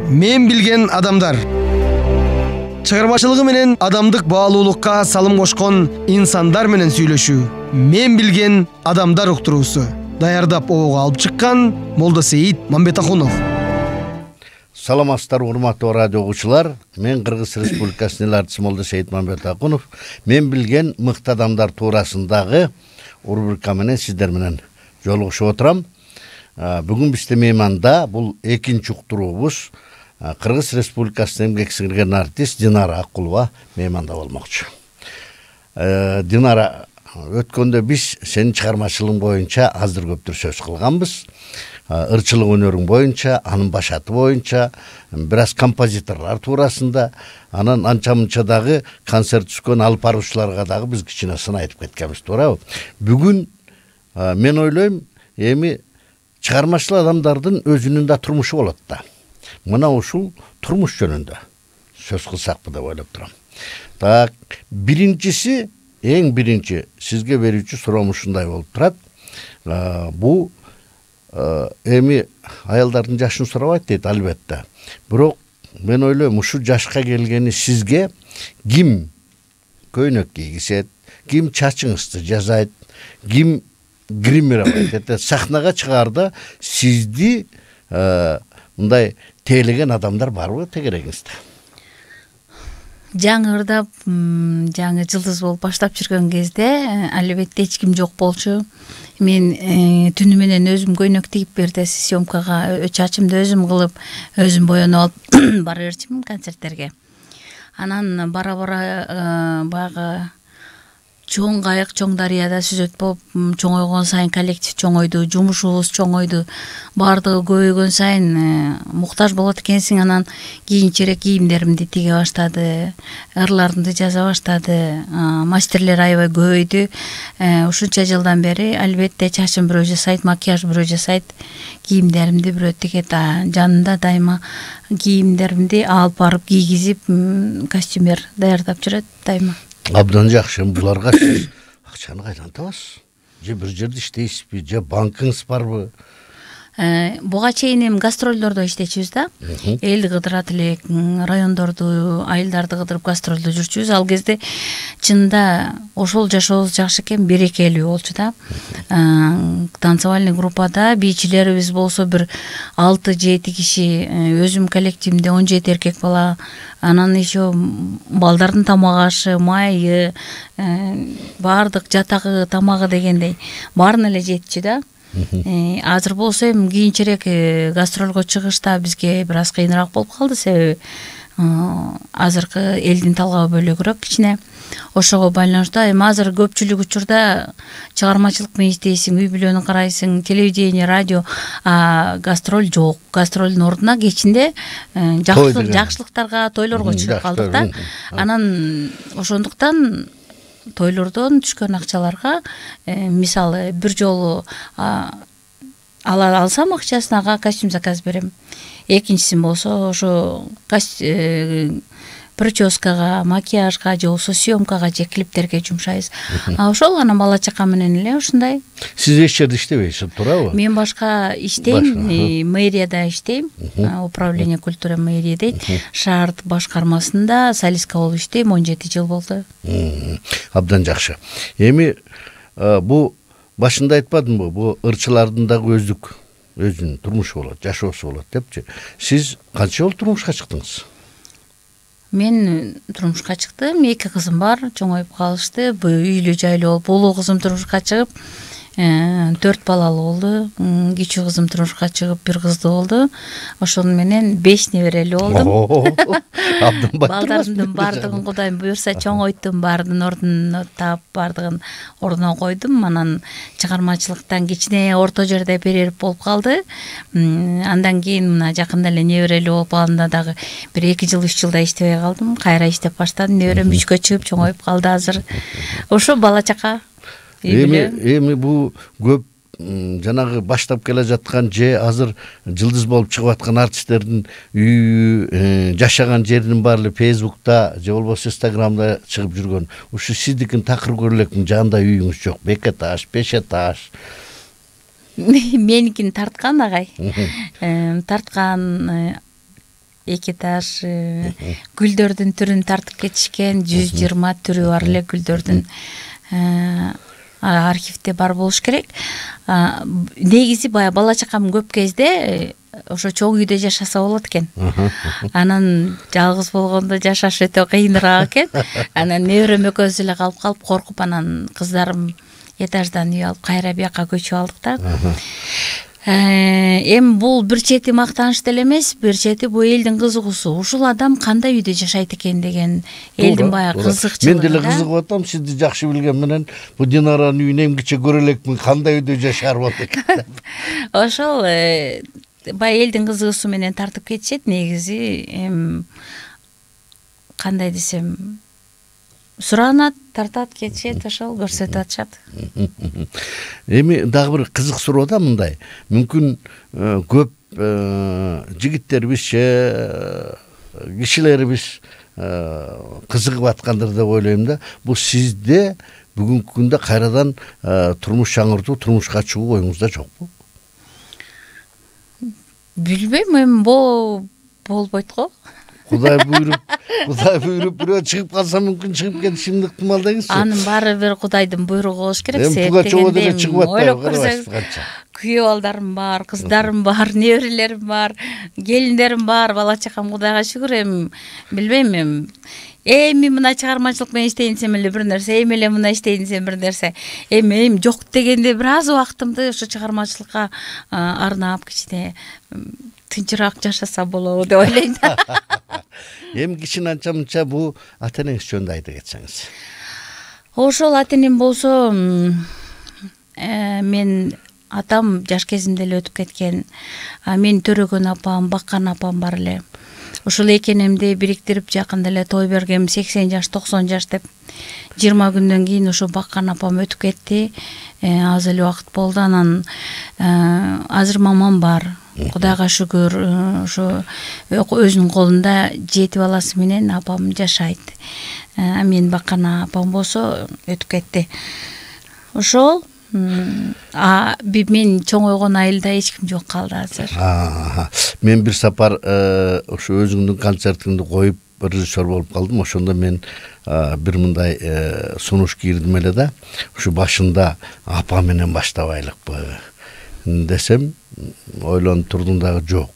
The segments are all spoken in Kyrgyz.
Мен билген адамдар. Чыгармачылыгы менен адамдык баалуулукка салым кошкон инсандар менен сүйлөшүү. Мен билген адамдар уктуруусу. Даярдап обого алып чыккан Молдосейит Мамбетахунов. Саламатсыздар, урматтуу радио угуучулар. Мен Кыргыз Республикасынын эл артисти Молдосейит Мамбетахунов. Мен билген мыкты адамдар туурасындагы рубрика менен сиздер менен жолугушуп отурам. Бүгүн бизде мейманда бул экинчи уктуруубуз Кыргыз Республикасынын эмгек сиңирген артист Динара Акулова мейманда болмокчу. Динара, өткөндө биз сенин чыгармачылыгың боюнча аздыр көптүр сөз кылганбыз. Ырчылык өнөрүң боюнча, анын башаты боюнча, бир аз композиторлор туурасында, анан анча-мынча дагы концерт түшкөн алып баруучуларга дагы биз кичине сын айтып кеткенбиз, туурабы? Бүгүн мен ойлойм, эми чыгармачыл адамдардын өзүнүн да турмушу болот да. Мына ушул турмуш жөнүндө сөз кылсакпы деп ойлоп турам. Так, биринчиси, эң биринчи сизге берүүчү суроом ушундай болуп турат. Бул эми аялдардын жашын сурабайт дейт, албетте. Бирок мен ойлойм, ушул жашка келгени сизге ким көйнөк кийгизет, ким чачыңызды жасайт, ким гримировать, сахнага чыгаарда сизди мындай тейлеген адамдар барбы тегерегиңизде? Жаңы ырдап, жаңы жылдыз болуп баштап жүргөн кезде албетте эч ким жок болчу. Мен түнү менен өзүм көйнөк тигип берди, съемкага чачымды өзүм кылып, өзүм боенуп алып бара берчүмүн концерттерге. Анан бара-бара баягы чоң кайык, чоң дарыяда сүзөт болуп, чоңойгон сайын коллектив чоңойду, жумушубуз чоңойду. Бардыгы көбөйгөн сайын муктаж болот экенсиң, анан кийинчерээк кийимдеримди тиге баштады, ырларымды жаза баштады, мастерлер аябай көбөйдү. Ушунча жылдан бери албетте чачым бирөө жасайт, макияж бирөө жасайт, кийимдеримди бирөө тигет, жанында дайыма кийимдеримди алып барып кийгизип, костюмер даярдап жүрөт дайыма. Абдан жакшы. Буларга сиз акчаны кайдан табасыз? Же бир жерде иштейсизби, же банкыңыз барбы? Буга чейин эми гастролдордо иштечүбүз да. Элди кыдырат элек, райондорду, айылдарды кыдырып гастролдо жүрчүбүз. Ал кезде чынында ошол жашообуз жакшы экен, берекелүү болчу да. Танцевальный группада бийчилерибиз болсо бир 6-7 киши, өзүм коллективимде 17 эркек бала, анан еще балдардын тамак ашы, майы, баардык жатагы, тамагы дегендей баарын эле жетчү да. Азыр болсо эми кийинчерээк гастролго чыгышта бизге бир аз кыйыныраак болуп калды, себеби азыркы элдин талабы бөлөгүрөөк кичине. Ошого байланыштуу эми азыр көпчүлүк учурда чыгармачылык менен иштейсиң, үй бүлөнү карайсың, телевидение, радио, гастроль жок. Гастролдун ордуна кечинде жакшылыктарга, тойлорго чыгып калдык да. Анан ошондуктан тойлордон түшкөн акчаларга, мисалы бир жолу алсам акчасын ага костюм заказ берем. Экинчиси болсо ошо прическага, макияжга, же болбосо съемкага, же клиптерге жумшайбыз. Ошол анан бала чака менен эле ушундай. Сиз эч жерде иштебейсиз, туурабы? Мен башка иштейм, мэрияда иштейм, управление культуры мэрия дейт. Шаард башкармасында солистка болуп иштейм, 17 жыл болду. Абдан жакшы. Эми бу башында айтпадымбы, бу ырчылардын дагы өзүнүн турмушу болот, жашоосу болот депчи. Сиз канча жолу турмушка чыктыңыз? Мен турмушка чыктым, 2 кызым бар, чоңоюп калышты, үйлүү жайлуу болуп, улуу кызым турмушка чыгып, 4 балалуу болду. Кичүү кызым турмушка чыгып 1 кыздуу болду. Ошону менен 5 неберелүү болдум. Балдарымдын баардыгын Кудайым буйрса чоңойттум, баардын ордуна таап, баардыгын ордуна койдум. Анан чыгармачылыктан кичине орто жерде перерив болуп калды. Андан кийин мына жакында эле неберелүү болуп калганда дагы бир 2 жыл 3 жылда иштебей калдым. Кайра иштеп баштадым. Неберем 3кө чыгып чоңоюп калды азыр. Ошо бала чака. Эми бул көп жанагы баштап келе жаткан же азыр жылдыз болуп чыгып аткан артисттердин үйү, жашаган жеринин баары Facebook'та же болбосо Instagram'да чыгып жүргөн. Ушу сиздикин такыр көрүлөкмүн, жанында үйүңүз жок, 2 этаж, 5 этаж. Меникин тарткан агай. Тарткан 2 этаж гүлдөрдүн түрүн тартып кетишкен, 120 түрү бар эле гүлдөрдүн архивде бар болуш керек. Негизи баягы бала чакам көп кезде ошо чоң үйдө жашаса болот экен. Анан жалгыз болгондо жашаш өтө кыйыныраак экен. Анан неберем экөөбүз эле калып коркуп, анан кыздарым этаждан үй алып кайра бияка көчүп алдык да. Эми бул бир чети мактаныч деле эмес, бир чети бул элдин кызыгуусу. Ушул адам кандай үйдө жашайт экен деген элдин баягы кызыкчылыгы. Мен деле кызыгып атам, сизди жакшы билген менен бул Динаранын үйүн эмгиче көрө элекмин, кандай үйдө жашар болот экен. Ошол баягы элдин кызыгуусу менен тартып кетишет. Негизи кандай десем, суранат, тартат, кетишет, ошол көрсөтүп атышат. Эми дагы бир кызык суроо да мындай. Мүмкүн көп жигиттерибиз кишилерибиз кызыгып аткандыр деп ойлойм да. Бул сизде бүгүнкү күндө кайрадан турмуш жаңыртуу, турмушка чыгуу оюңузда жокпу? Билбейм, эми болбойт го. Кудай буйруп бирөө чыгып калса мүмкүн чыгып кетишим ыктымал деңизчи. Анын баары бир Кудайдын буйругу болуш керек. Ойлоп көрсөңүз, күйөө балдарым бар, кыздарым бар, неберелерим бар, келиндерим бар, бала чакам Кудайга шүгүр. Эми билбейм, эми мына чыгармачылык менен иштейин десем эле бир нерсе, эми эле мына иштейин десем бир нерсе. Эми жок дегенде бир аз убактымды ошо чыгармачылыкка арнап кичине тынчыраак жашаса болобу деп ойлойм да. Эми кичине анча-мынча бул ата энеңиз жөнүндө айта кетсеңиз. Ошол ата энем болсо, мен атам жаш кезимде эле өтүп кеткен. Мен төрөгөн апам, баккан апам бар эле. Ошол эки энемди бириктирип жакында эле той бергем, 80 жаш, 90 жаш деп. 20 күндөн кийин ошо баккан апам өтүп кетти. Аз эле убакыт болду. Анан азыр мамам бар. Кудайга шүгүр, ошо өзүнүн колунда 7 баласы менен апам жашайт. Мен баккан апам болсо өтүп кетти. Ошол мен чоңойгон айылда эч ким жок калды азыр. Мен бир сапар ошо өзүңдүн концертиңди коюп режиссер болуп калдым. Ошондо мен бир мындай сунуш кирдим эле да. Ушу башында апа менен баштабайлыкпы десем, ойлонуп турдум дагы, жок,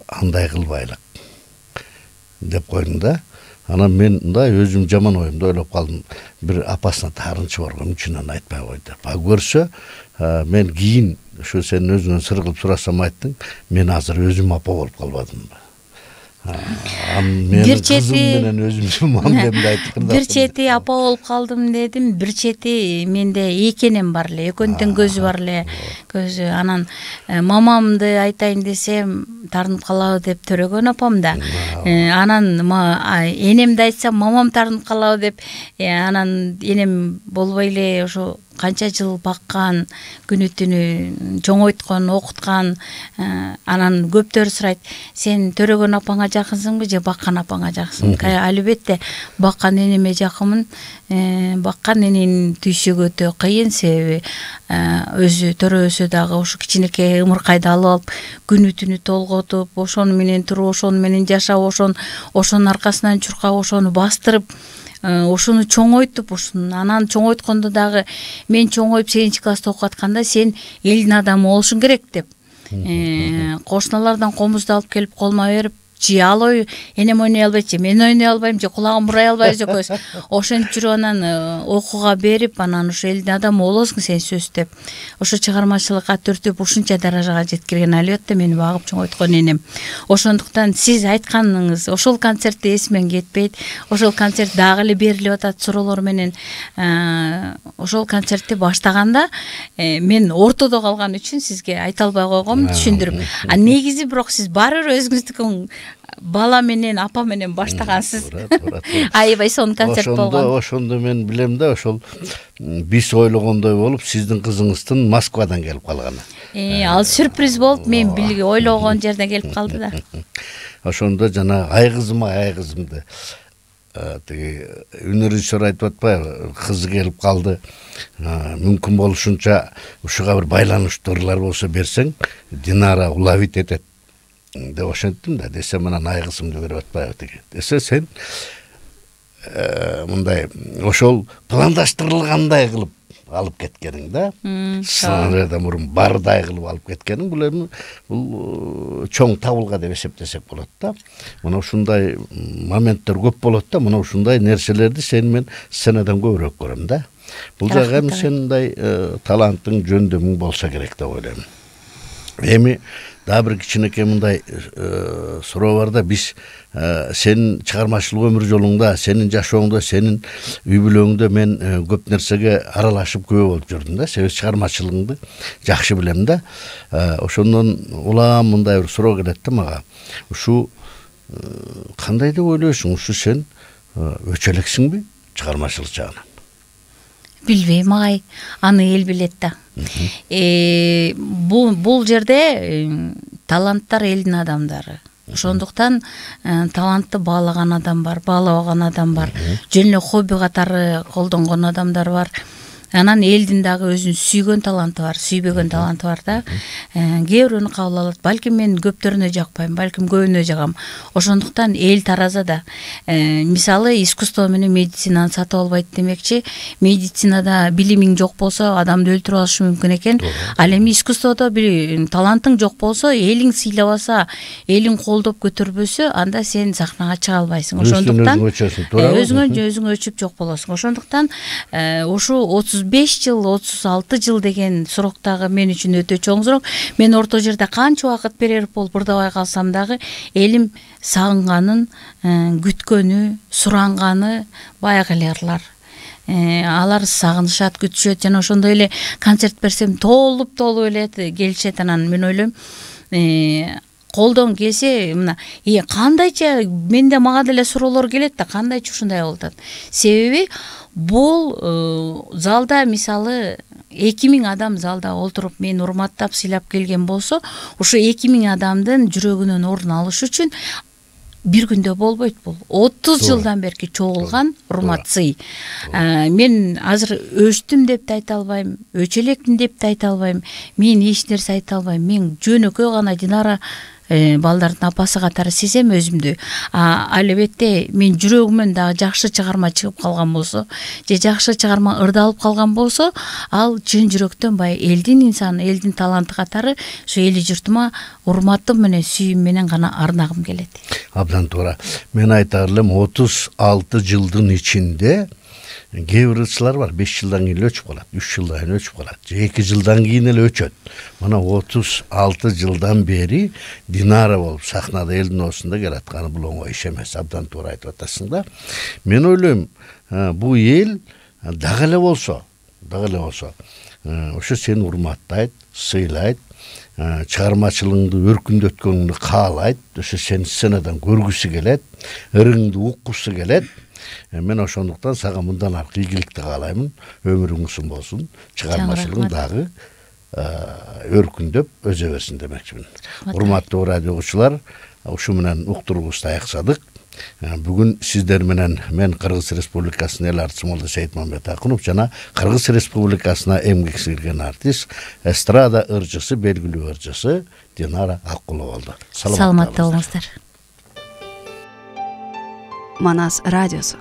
андай кылбайлык деп койдум да. Анан мен мындай өзүм жаман оюмду ойлоп калдым. Бир апасына таарынчы болгон үчүн айтпай койду. Көрсө, мен кийин ушу сен өзүңөн сыр кылып сурасам айттың, мен азыр өзүм апа болуп калбадымбы. Бир чети апа болуп калдым дедим, бир чети менде эки энем бар эле, экөөнүн көзү бар эле, көзү. Анан мамамды айтайын десем таарынып калабы деп төрөгөн апам да. Анан энемди айтсам мамам таарынып калабы деп, анан энем болбой эле ошо канча жыл баккан, күнү түнү чоңойткон, окуткан. Анан көптөр сурайт, сен төрөгөн апаңа жакынсыңбы же баккан апаңа жакынсыңбы? Албетте баккан энеме жакынмын. Баккан эненин түйшүгү өтө кыйын, себеби өзү төрөбөсө дагы ошо кичинекей ымыркайды алып алып, күнү түнү толготуп, ошону менен туруп, ошону менен жашап, ошонун аркасынан чуркап, ошону бастырып, ошону чоңойтуп, анан чоңойткондо дагы мен чоңоюп 8 класста окуп атканда сен элдин адамы болушуң керек деп. Кошуналардан комузду алып келип колума берип, же ал энем ойной албайт, же мен ойной албайм, же кулагым бурай албайбыз экөөбүз. Ошентип жүрүп анан окууга берип, анан ошо элдин адамы болосуң сен сөз деп. Ошо чыгармачылыкка түртүп ушунча даражага жеткирген албетте мени багып чоңойткон энем. Ошондуктан сиз айтканыңыз ошол концертте эсимен кетпейт. Ошол концерт дагы эле берилип атат суроолор менен. Ошол концертти баштаганда мен ортодо калган үчүн сизге айта албай койгом, түшүндүрүп. Негизи бирок сиз баары бир өзүңүздүн бала менен, апа менен баштагансыз. Аябай сонун концерт болгон. Ошондо мен билем да, ошол биз ойлогондой болуп, сиздин кызыңыздын Москвадан келип калганы. Ал сюрприз болуп, мен ойлогон жерден келип калды да. Ошондо жана ай кызымды тиги режиссер айтып атпайбы, кызы келип калды. Мүмкүн болушунча ушуга бир байланыштуулар болсо берсең, Динара улабит этет деп ошенттим да. Десе мына айгысымды берип атпайбы тиги. Десе сен мындай ошол пландаштырылгандай кылып алып кеткениң да. Сценарийден мурун бардай кылып алып кеткениң бул чоң табылга деп эсептесек болот да. Мына ушундай моменттер көп болот да. Мына ушундай нерселерди сени мен сценадан көбүрөөк көрөм да. Бул жагы эми сендей талантың, жөндөмүң болсо керек деп ойлойм. Эми дагы бир кичинекей мындай суроо бар да. Биз сенин чыгармачылык өмүр жолуңда, сенин жашооңдо, сенин үй бүлөңдө мен көп нерсеге аралашып көбө болуп жүрдүм да. Себеби чыгармачылыгыңды жакшы билем да. Ошондон улам мындай бир суроо келет да мага. Ушу кандай деп ойлойсуң? Ушу сен өчө элексиңби чыгармачылык жагынан? Билбейм агай, аны эл билет да. Бул жерде таланттар элдин адамдары. Ошондуктан талантты баалаган адам бар, баалабаган адам бар, жөн эле хобби катары колдонгон адамдар бар. Анан элдин дагы өзүнүн сүйгөн таланты бар, сүйбөгөн таланты бар да. Кээ бирөөнү кабыл алат. Балким мен көптөрүнө жакпайм, балким көбүнө жагам. Ошондуктан эл таразада. Мисалы искусство менен медицинаны сатып албайт демекчи, медицинада билимиң жок болсо адамды өлтүрүп алышы мүмкүн экен. Ал эми искусстводо бир талантың жок болсо, элиң сыйлабаса, элиң колдоп көтөрбөсө, анда сен сахнага чыга албайсың. Ошондуктан өзүңө өчүп жок болосуң. Ошондуктан ушу 35 жыл, 36 жыл деген суроктагы мен үчүн өтө чоң сурок. Мен орто жерде канча убакыт перерыв болуп ырдабай калсам дагы элим сагынганын, күткөнү, суранганы баягы эле ырлар. Алар сагынышат, күтүшөт жана ошондой эле концерт берсем толуп эле келишет. Анан мен ойлойм, колдон келсе мына кандайча менде мага деле суроолор келет да, кандайча ушундай болуп атат. Себеби бул залда мисалы 2000 адам залда олтуруп мени урматтап сыйлап келген болсо, ушу 2000 адамдын жүрөгүнөн орун алыш үчүн бир күндө болбойт бул. 30 жылдан берки чогулган урмат сый. Мен азыр өчтүм деп да айта албайм, өчө электим деп да айта албайм. Мен эч нерсе айта албайм. Мен жөнөкөй гана Динара балдардын апасы катары сезем өзүмдү. Албетте мен жүрөгүмөн дагы жакшы чыгарма чыгып калган болсо, же жакшы чыгарма ырдалып калган болсо, ал чын жүрөктөн баягы элдин инсаны, элдин таланты катары ушу эли журтума урматым менен, сүйүүм менен гана арнагым келет. Абдан туура. Мен айтар элем 36 жылдын ичинде кээ бир ырчылар бар, 5 жылдан кийин өчүп калат, 3 жылдан кийин өчүп калат, же 2 жылдан кийин эле өчөт. Мына 36 жылдан бери Динара болуп сахнада элдин ортосунда келатканы бул оңой иш эмес. Абдан туура айтып атасың да. Мен ойлойм, бул эл дагы эле болсо, ошо сени урматтайт, сыйлайт, чыгармачылыгыңды өркүндөткөнүңдү каалайт, ошо сени сценадан көргүсү келет, ырыңды уккусу келет. Мен ошондуктан сага мындан аркы ийгиликти каалаймын. Өмүрүң узун болсун, чыгармачылыгың дагы өркүндөп өзө берсин демекчимин. Урматтуу радио угуучулар, ушу менен уктуруубузду аяксадык. Бүгүн сиздер менен мен Кыргыз Республикасынын эл артчысы Молдосейит Мамбетакунов жана Кыргыз Республикасына эмгек сіңирген артист, эстрада ырчысы, белгилүү ырчысы Динара Аккулова болду. Саламатта болуңуздар. Манас радиосу.